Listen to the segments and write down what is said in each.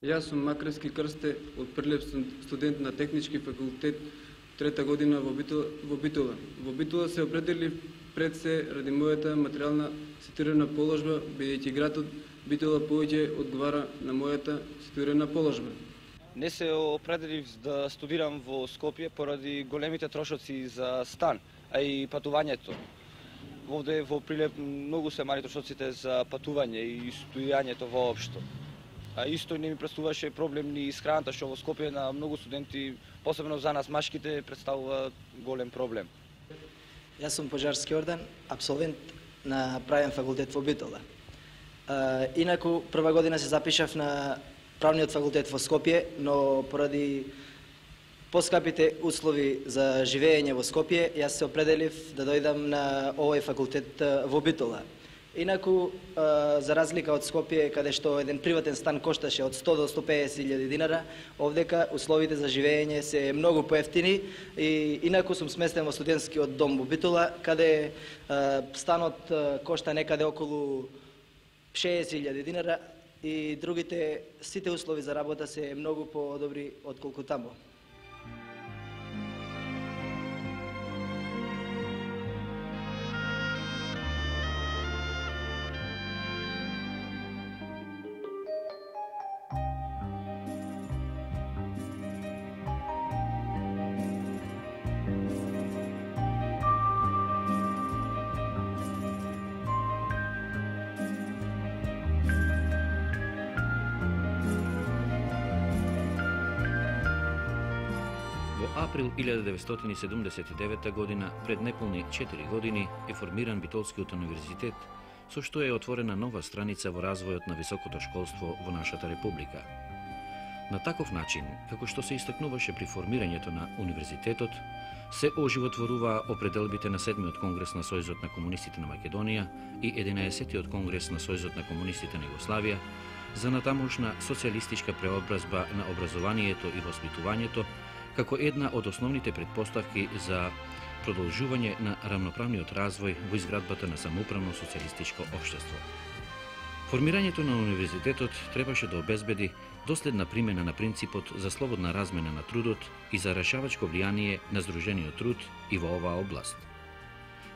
Јас сум Макрески Крсте, од Прилеп, студент на Технички факултет, трета година во Битола. Во Битола се определив пред се ради мојата материјална ситуирана положба, бидејќи градот Битола повеќе одговара на мојата ситуирана положба. Не се определив да студирам во Скопје поради големите трошоци за стан, а и патувањето. Овде во Прилеп многу се мали трошоците за патување и студирањето воопшто. А исто не ми представуваше проблем ни исхраната, што во Скопје на многу студенти, посебно за нас машките, представува голем проблем. Јас сум Пожарски Ордан, абсолвент на правен факултет во Битола. Инаку, прва година се запишав на правниот факултет во Скопје, но поради поскапите услови за живење во Скопје, јас се определив да дојдам на овој факултет во Битола. Инаку, за разлика од Скопје, каде што еден приватен стан кошташе од 100 до 150.000 динара, овдека условите за живење се многу поевтини и инаку сум сместен во студентскиот дом во Битола, каде станот кошта некаде околу 60.000 динара и другите сите услови за работа се многу подобри отколку таму. Април 1979 година, пред неполни 4 години, е формиран Битолскиот универзитет, со што е отворена нова страница во развојот на високото школство во нашата република. На таков начин, како што се истакнуваше при формирањето на универзитетот, се оживотворуваа определбите на 7-миот конгрес на Сојузот на комунистите на Македонија и 11-тиот конгрес на Сојузот на комунистите на Југославија за натамошна социјалистичка преобразба на образованието и воспитувањето, како една од основните предпоставки за продолжување на рамноправниот развој во изградбата на самоуправно социјалистичко општество. Формирањето на универзитетот требаше да обезбеди доследна примена на принципот за слободна размена на трудот и за решавачко влијание на здружениот труд и во оваа област.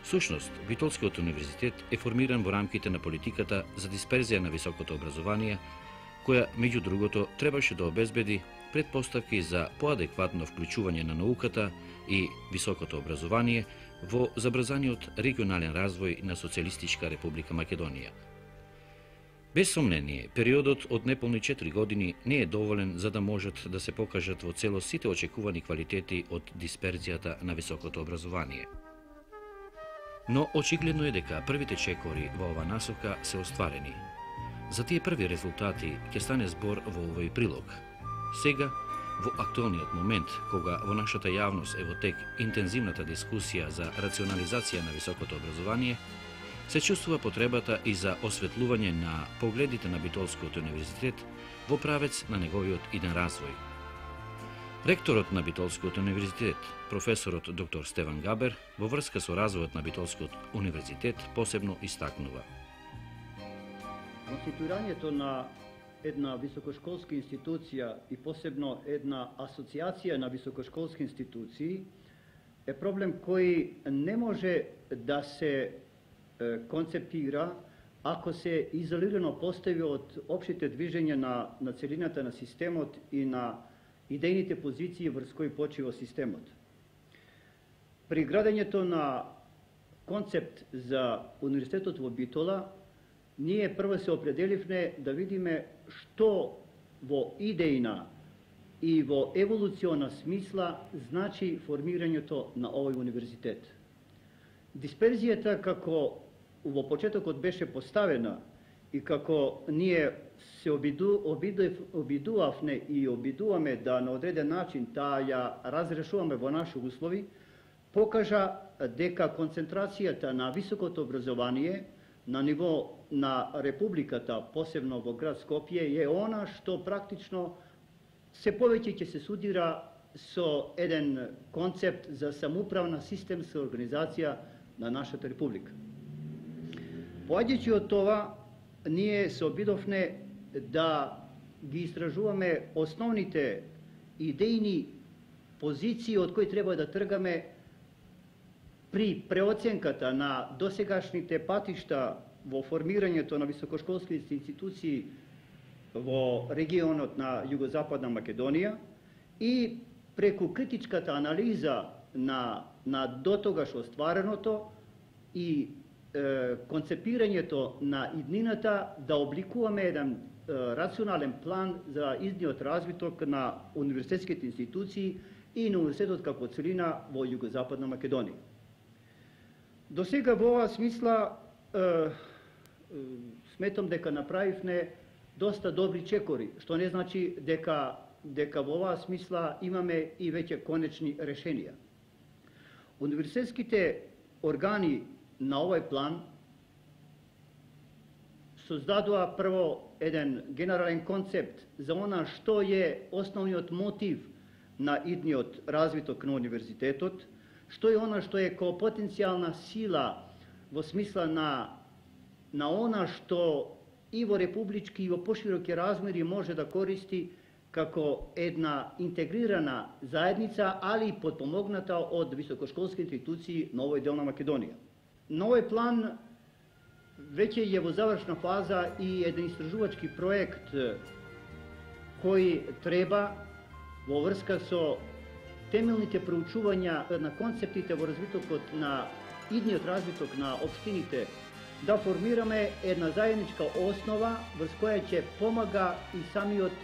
Всушност, Битолскиот универзитет е формиран во рамките на политиката за дисперзија на високото образование, која, меѓу другото, требаше да обезбеди предпоставки за поадекватно вклучување на науката и високото образование во забрзаниот регионален развој на Социјалистичка република Македонија. Без сомнение, периодот од неполни 4 години не е доволен за да можат да се покажат во целост сите очекувани квалитети од дисперзијата на високото образование. Но очигледно е дека првите чекори во ова насока се остварени. За тие први резултати ќе стане збор во овој прилог. Сега, во актуелниот момент, кога во нашата јавност е во тек интензивната дискусија за рационализација на високото образование, се чувствува потребата и за осветлување на погледите на Битолскиот универзитет во правец на неговиот иден развој. Ректорот на Битолскиот универзитет, професорот доктор Стеван Габер, во врска со развојот на Битолскиот универзитет посебно истакнува. Конституирањето на една високошколска институција и посебно една асоциација на високошколски институции е проблем кој не може да се концепира ако се изолирано постави од општите движења на целината на системот и на идејните позиции врз кои почива системот. При градењето на концепт за универзитетот во Битола, ние прво се определивме да видиме што во идејна и во еволуциона смисла значи формирањето на овој универзитет. Дисперзијата, како во почетокот беше поставена и како ние се обидувавме и обидуваме да на одреден начин таа ја разрешуваме во наши услови, покажа дека концентрацијата на високото образование на ниво на Републиката, посебно во град Скопје, е она што практично се повеќе ќе се судира со еден концепт за самоуправна системска организација на нашата Република. Поаѓајќи од това, ние се обидовме да ги истражуваме основните идејни позиции од кои треба да тргаме при преоценката на досегашните патишта во формирањето на високошколските институции во регионот на Југозападна Македонија и преку критичката анализа на дотогаш оствареното и концепирањето на иднината да обликуваме еден рационален план за идниот развиток на универзитетските институции и на универзитетот како целина во Југозападна Македонија. До сега во оваа смисла сметам дека направивме доста добри чекори, што не значи дека во оваа смисла имаме и веќе конечни решенија. Универзитетските органи на овој план создадоа прво еден генерален концепт за она што е основниот мотив на идниот развиток на универзитетот, што е она што е како потенцијална сила во смисла на она што и во републички и во пошироки размери може да користи како една интегрирана заедница, али и подпомогната од високошколски институции на овој дел на Македонија. На овој план веќе е во завршна фаза и еден истражувачки проект кој треба во врска со темелните проучувања на концептите во развитокот на идниот развиток на општините да формираме една заедничка основа врз која ќе помага и самиот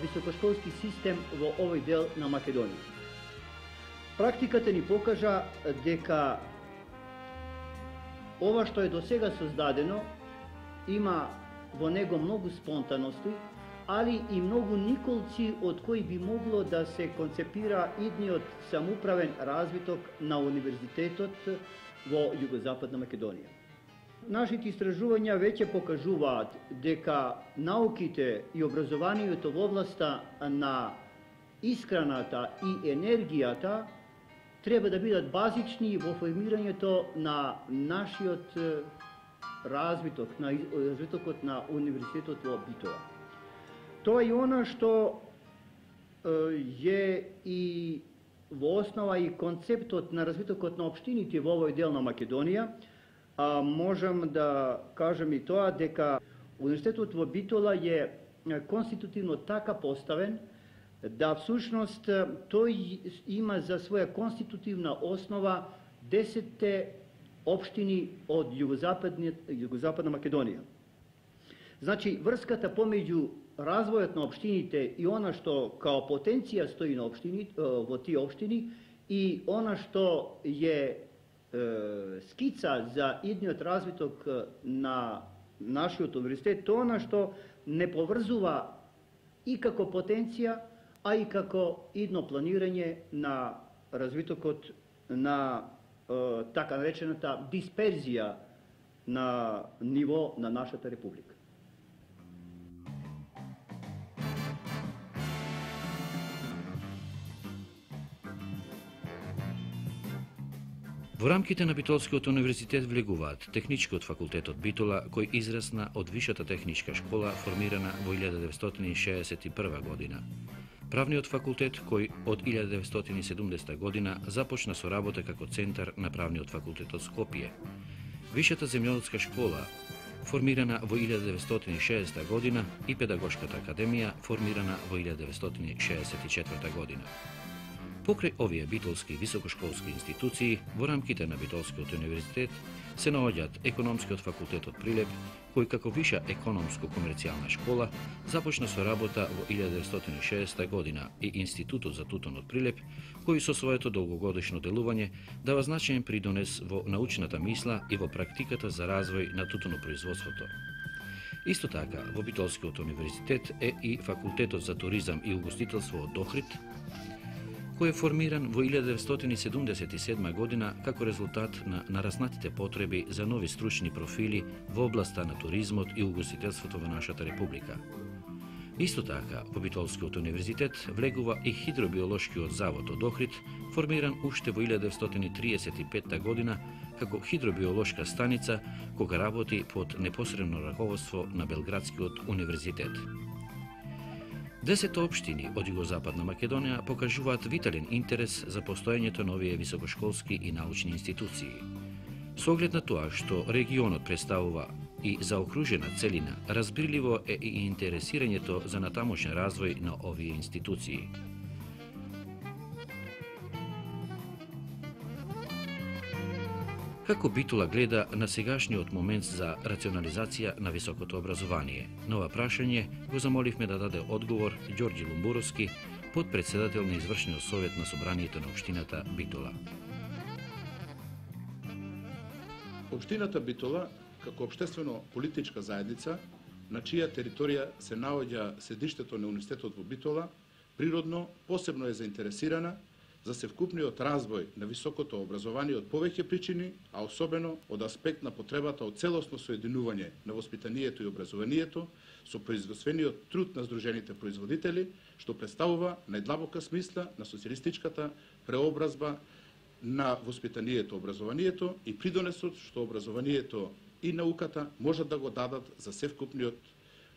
високошколски систем во овој дел на Македонија. Практиката ни покажа дека ова што е до сега создадено има во него многу спонтаности, али и многу николци од кои би могло да се концепира идниот самоуправен развиток на универзитетот во Југозападна Македонија. Нашите истражувања веќе покажуваат дека науките и образованието во областа на искраната и енергијата треба да бидат базични во формирањето на нашиот развиток, на развитокот на универзитетот во Битола. Тоа е она што е и во основа и концептот на развитокот на општините во овој дел на Македонија. Можам да кажам и тоа дека универзитетот во Битола е конститутивно така поставен да всушност тој има за своја конститутивна основа 10 општини од Југозападна Македонија. Значи, врската помеѓу развојот на општините и она што као потенција стои на во тие општини и она што е скица за идниот развиток на нашиот универзитет, тоа она што не поврзува и како потенција, а и како идно планирање на развитокот на така наречената дисперзија на ниво на нашата република. Во рамките на Битолскиот универзитет влегуваат Техничкиот факултет од Битола, кој израсна од Вишата техничка школа формирана во 1961 година. Правниот факултет, кој од 1970 година започна со работа како центар на Правниот факултет од Скопје. Вишата земјоделска школа, формирана во 1960 година, и Педагошката академија, формирана во 1964 година. Покрај овие битолски високошколски институции, во рамките на Битолскиот универзитет се наоѓаат Економскиот факултет од Прилеп, кој како виша економско-комерцијална школа започна со работа во 1960 година, и Институтот за тутун од Прилеп, кој со своето долгогодишно делување дава значаен придонес во научната мисла и во практиката за развој на тутунопроизводството. Исто така, во Битолскиот универзитет е и Факултетот за туризам и угостителство од Охрид, кој е формиран во 1977 година како резултат на нараснатите потреби за нови стручни профили во областа на туризмот и угостителството во нашата република. Исто така, во Битолскиот универзитет влегува и Хидробиолошкиот завод од Охрид, формиран уште во 1935 година како хидробиолошка станица, кога работи под непосредно раководство на Белградскиот универзитет. 10 општини од Југозападна Македонија покажуваат витален интерес за постоењето на овие високошколски и научни институции. Со оглед на тоа што регионот представува и заокружена целина, разбирливо е и интересирањето за натамошен развој на овие институции. Како Битола гледа на сегашниот момент за рационализација на високото образование? На ова прашање го замоливме да даде одговор Ѓорѓи Лумбуровски, подпредседател на извршниот совет на собранието на општината Битола. Општината Битола, како општествено политичка заедница, на чија територија се наоѓа седиштето на Универзитетот во Битола, природно посебно е заинтересирана за севкупниот развој на високото образование од повеќе причини, а особено од аспект на потребата од целосно соединување на воспитанието и образованието со производствениот труд на здружените производители, што представува најдлабока смисла на социјалистичката преобразба на воспитанието и образованието и придонесот што образованието и науката можат да го дадат за севкупниот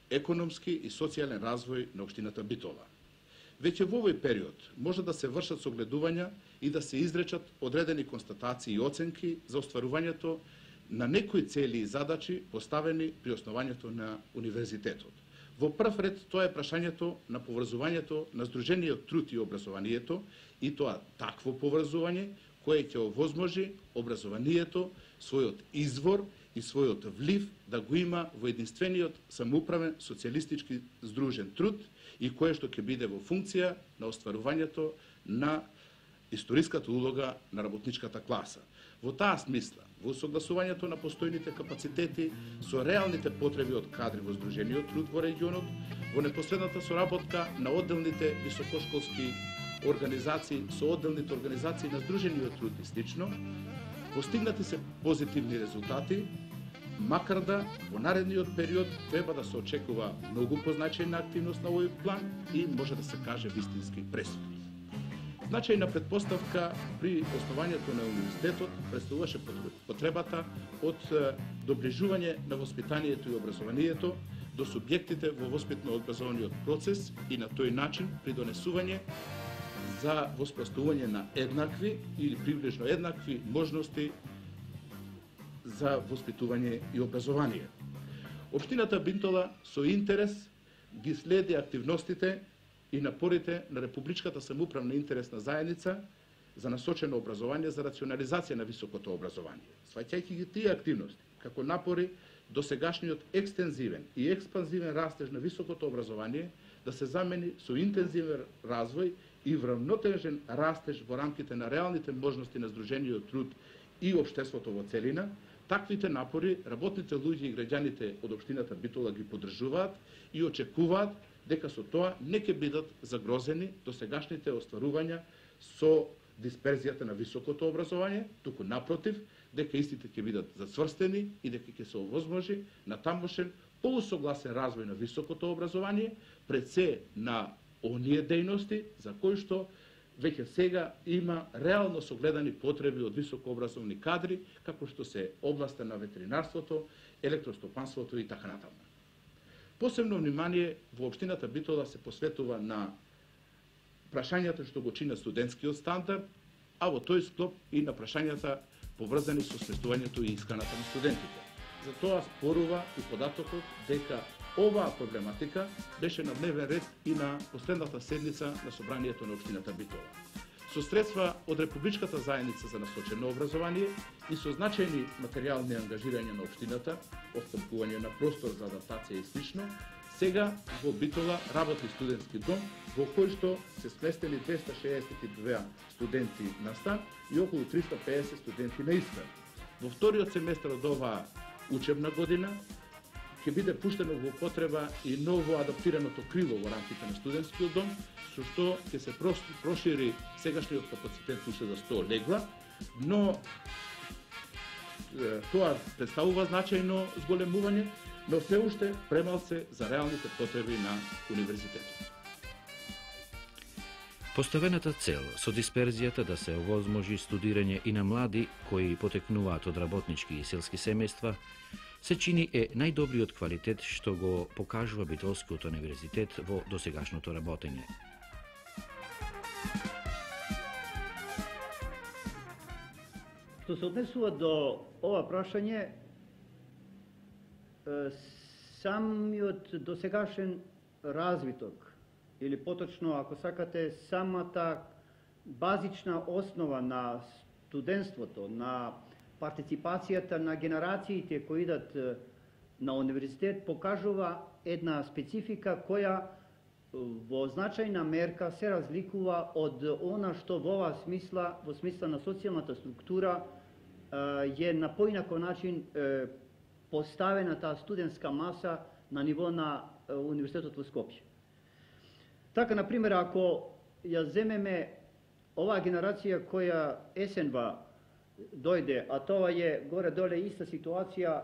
економски и социјален развој на општината Битола. Веќе во овој период може да се вршат согледувања и да се изречат одредени констатации и оценки за остварувањето на некои цели и задачи поставени при основањето на универзитетот. Во прв ред тоа е прашањето на поврзувањето на здружениот труд и образованието и тоа такво поврзување кое ќе овозможи образованието својот извор и својот влив да го има во единствениот самоуправен социјалистички здружен труд и кое што ќе биде во функција на остварувањето на историската улога на работничката класа. Во таа смисла, во согласувањето на постојните капацитети со реалните потреби од кадри во здружениот труд во регионот, во непосредната соработка на одделните високошколски организации со одделните организации на здружениот труд и слично, постигнати се позитивни резултати, макар да во наредниот период треба да се очекува многу позначајна активност на овој план и може да се каже вистински пресудни. Значајна предпоставка при основањето на универзитетот представуваше потребата од доближување на воспитанието и образованието до субјектите во воспитно-образовниот процес и на тој начин придонесување за воспоставување на еднакви или приближно еднакви можности за воспитување и образование. Општината Битола со интерес ги следи активностите и напорите на Републичката самоуправна интересна заедница за насочено образование за рационализација на високото образование. Сваќајќи ги тие активности како напори до сегашниот екстензивен и експанзивен растеж на високото образование да се замени со интензивен развој и вравнотежен растеж во рамките на реалните можности на здружениот труд и општеството во целина, таквите напори работните луѓе и граѓаните од општината Битола ги поддржуваат и очекуваат дека со тоа не ќе бидат загрозени до сегашните остварувања со дисперзијата на високото образование, туку напротив, дека истите ќе бидат зацврстени и дека ќе се овозможи на тамошен полусогласен развој на високото образование, пред се на оние дејности за кои што веќе сега има реално согледани потреби од високообразовни кадри, како што се областа на ветеринарството, електростопанството и така натаму. Посебно внимание во општината Битола се посветува на прашањата што го чинат студентскиот стандард, а во тој склоп и на прашањата поврзани со сместувањето и исканата на студентите. За тоа спорува и податокот дека оваа проблематика беше на дневен ред и на последната седница на собранието на општината Битола. Со средства од Републичката заедница за насочено образование и со значајни материјални ангажирања на општината, остапување на простор за адаптација и слично, сега во Битола работи студентски дом во кој што се сместени 262 студенти на стан и околу 350 студенти на искран. Во вториот семестар од оваа учебна година ќе биде пуштено во употреба и ново адаптираното крило во рамките на студентскиот дом, со што ќе се прошири сегашниот капацитет уште за 100 легла, но тоа представува значајно зголемување, но се уште премалце за реалните потреби на универзитетот. Поставената цел со дисперзијата да се овозможи студирање и на млади кои потекнуваат од работнички и селски семејства се чини е најдобриот квалитет што го покажува Битолскиот универзитет во досегашното работење. Што се однесува до ова прашање, самиот досегашен развиток, или поточно, ако сакате, самата базична основа на студентството, на партиципацијата на генерациите кои идат на универзитет, покажува една специфика која во значајна мерка се разликува од она што во смисла на социјалната структура е на поинаков начин поставена таа студентска маса на ниво на Универзитетот во Скопје. Така, например, ако ја земеме оваа генерација која есенва дојде, а тоа е горе-доле иста ситуација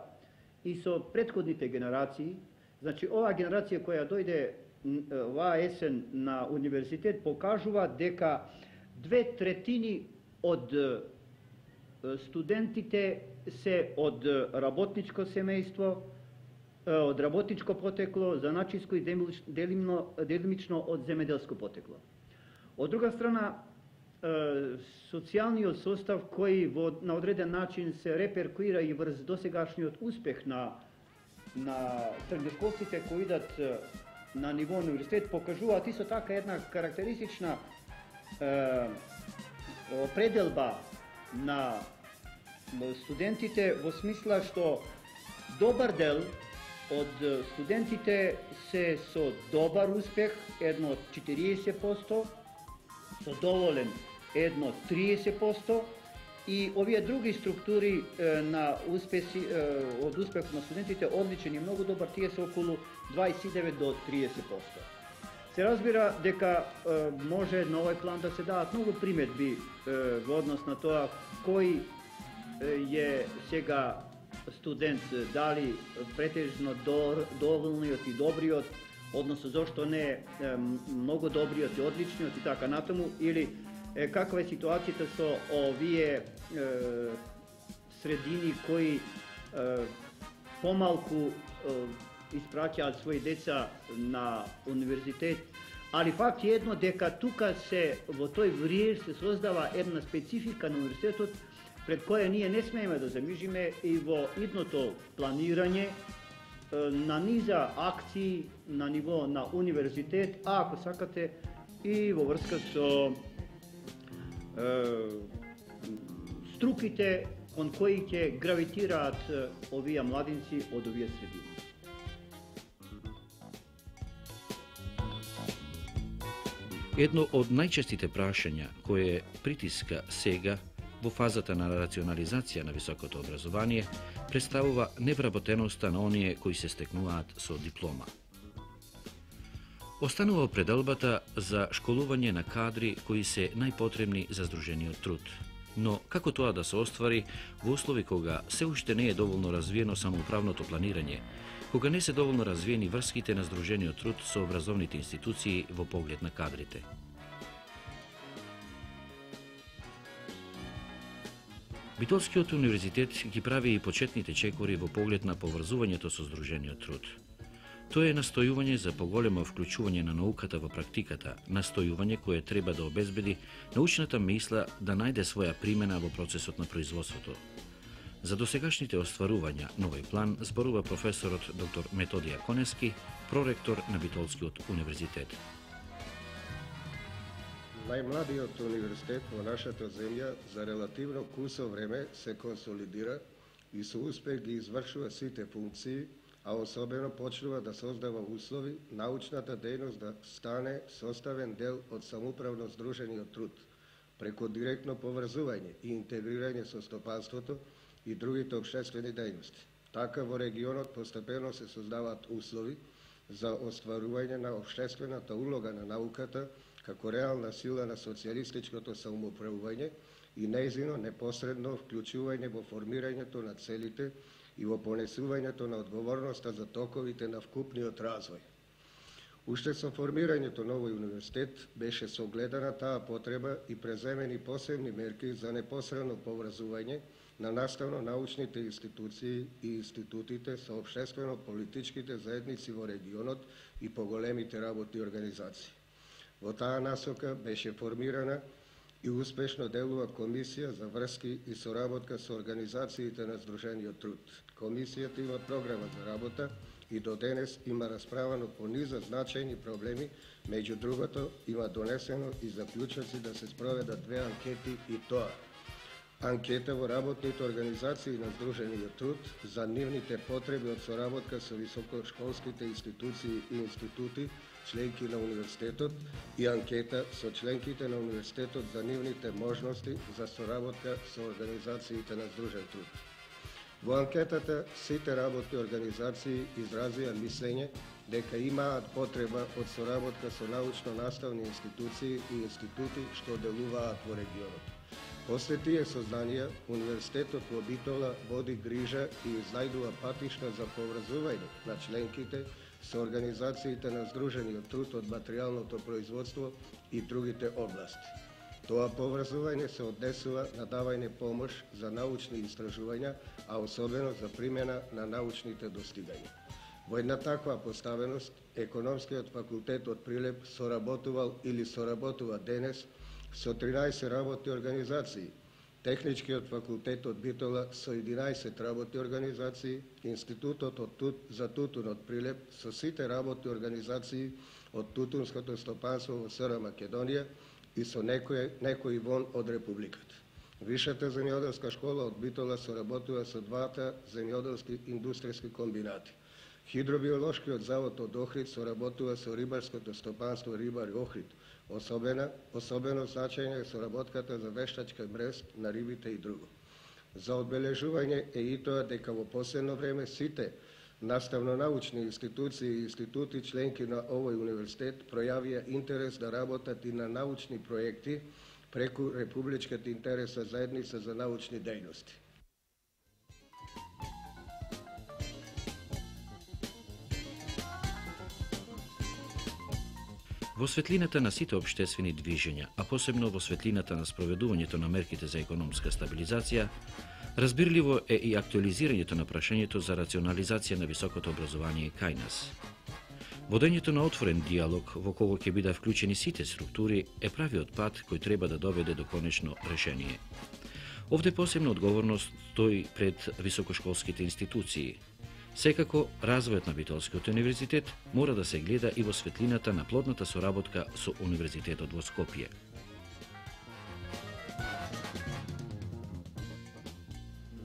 и со претходните генерации, значи оваа генерација која дојде оваа есен на универзитет покажува дека 2/3 од студентите се од работничко семејство, од работничко потекло, заначиско и делимично од земеделско потекло. Од друга страна, социјалниот состав кој на одреден начин се реперкуира и врз досегашниот успех на средношколците кои идат на ниво универзитет покажуваат исто така една карактеристична определба на студентите во смисла што добар дел од студентите се со добар успех, едно 40%, со доволен едно 30%, и овие други структури на успеси, од успех на студентите, одличен и многу добар, тие се околу 29 до 30%. Се разбира дека може на овој план да се дадат многу приметби во однос на тоа кој е сега студент, дали претежно доволниот и добриот, односно зошто не многу добриот и одличниот и така натаму, или каква е ситуацијата со овие средини кои помалку испраќаат своји деца на универзитет, али факт е едно дека тука се во тој вриеж се создава една специфика на универзитетот пред која ние не смееме да замижиме и во идното планирање на низа акции на ниво на универзитет, а ако сакате и во врска со струките кон кои ќе гравитираат овие младинци од овие средини. Едно од најчестите прашања кое притиска сега во фазата на рационализација на високото образование представува невработеноста на оние кои се стекнуваат со диплома. Останува пределбата за школување на кадри кои се најпотребни за здружениот труд. Но како тоа да се оствари во услови кога се уште не е доволно развиено самоуправното планирање, кога не се доволно развиени врските на здружениот труд со образовните институции во поглед на кадрите? Битолскиот универзитет ги прави и почетните чекори во поглед на поврзувањето со здружениот труд. Тоа е настојување за поголемо вклучување на науката во практиката, настојување кое треба да обезбеди научната мисла да најде своја примена во процесот на производството. За досегашните остварувања на овој план зборува професорот доктор Методија Конески, проректор на Битолскиот универзитет. Најмладиот универзитет во нашата земја за релативно кусо време се консолидира и со успех ги извршува сите функции, а особено почнува да создава услови научната дејност да стане составен дел од самоуправно здружениот труд, преку директно поврзување и интегрирање со стопанството и другите општествени дејности. Така во регионот постепено се создаваат услови за остварување на општествената улога на науката како реална сила на социјалистичкото самоуправување и нејзино непосредно вклучување во формирањето на целите и во понесувањето на одговорноста за токовите на вкупниот развој. Уште со формирањето на овој универзитет беше согледана таа потреба и преземени посебни мерки за непосредно поврзување на наставно-научните институции и институтите со општествено-политичките заедници во регионот и поголемите работни организации. Во таа насока беше формирана и успешно делува Комисија за врски и соработка со организациите на Сдружениот труд. Комисијата има програма за работа и до денес има расправано по низа значајни проблеми, меѓу другото има донесено и заклучоци да се спроведат 2 анкети и тоа: анкета во работните организации на Сдружениот труд за нивните потреби од соработка со високошколските институции и институти, членки на универзитетот, и анкета со членките на универзитетот за нивните можности за соработка со организациите на Сдружен труд. Во анкетата сите работни организации изразија мислење дека имаат потреба од соработка со научно-наставни институции и институти што делуваат во регионот. После тие сознанија, Универзитетот во Битола води грижа и изнајдува патишта за поврзување на членките со организациите на Сдружениот труд од материјалното производство и другите области. Тоа поврзување се однесува на давање помош за научни истражувања, а особено за примена на научните достигања. Во една таква поставеност, Економскиот факултет од Прилеп соработувал или соработува денес со 13 работни организации, Техничкиот факултет од Битола со 11 работни организации, Институтот за тутун од Прилеп со сите работни организации од тутунското стопанство во СР Македонија и со некои вон од Републиката. Висшата земјоделска школа од Битола соработува со 2 земјоделски индустријски комбинати. Хидробиолошкиот завод од Охрид соработува со рибарското стопанство Рибари Охрид. Особено значајна е соработката за вештачка мрез на рибите и друго. За одбележување е и тоа дека во последно време сите наставно-научни институции и институти членки на овој универзитет пројавија интерес да работат и на научни проекти преку Републичката интересна заедница за научни дејности. Во светлината на сите општествени движења, а посебно во светлината на спроведувањето на мерките за економска стабилизација, разбирливо е и актуализирањето на прашањето за рационализација на високото образование кај нас. Водењето на отворен диалог во кого ќе бидат вклучени сите структури е правиот пат кој треба да доведе до конечно решение. Овде посебна одговорност стои пред високошколските институции. Секако, развојот на Битолскиот универзитет мора да се гледа и во светлината на плодната соработка со Универзитетот во Скопје.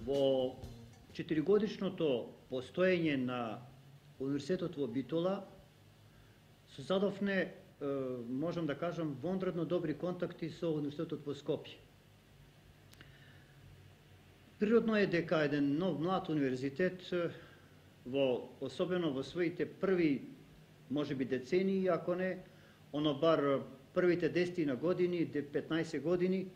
Во 4-годишното постоење на Универзитетот во Битола создадовме, можам да кажам, вонредно добри контакти со Универзитетот во Скопје. Природно е дека еден нов млад универзитет особено во своите први, можеби децении, ако не, бар првите 10 години, 15 години,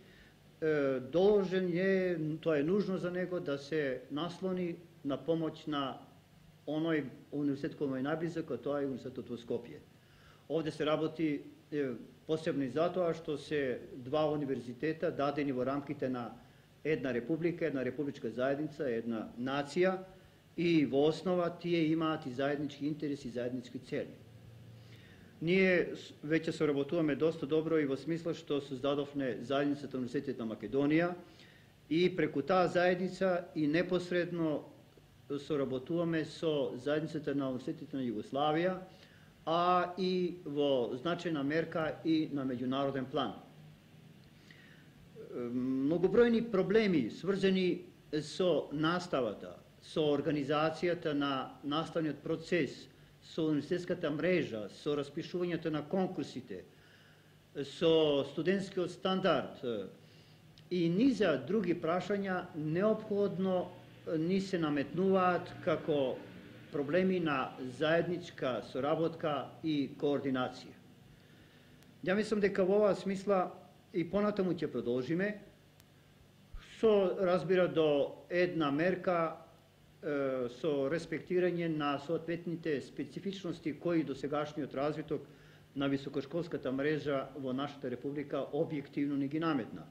должен е, тоа е нужно за него, да се наслони на помоќ на оној универзитет кој му е најблизок, а тоа е Универзитетот во Скопје. Овде се работи посебно и затоа што се 2 универзитета дадени во рамките на една република, една републичка заедница, една нација, и во основа тие имаат и заеднички интереси и заеднички цели. Ние веќе соработуваме доста добро и во смисла што создадовме заедницата на Универзитетот на Македонија и преку таа заедница и непосредно соработуваме со заедницата на Универзитетот на Југославија, а и во значајна мерка и на меѓународен план. Многобројни проблеми сврзани со наставата, со организацијата на наставниот процес, со универзитетската мрежа, со распишувањето на конкурсите, со студентскиот стандард и низа други прашања неопходно ни се наметнуваат како проблеми на заедничка соработка и координација. Ја мислам дека во оваа смисла и понатаму ќе продолжиме, со разбира до една мерка со респектирање на соодветните специфичности кои до сегашниот развиток на високошколската мрежа во нашата република објективно ни ги наметна.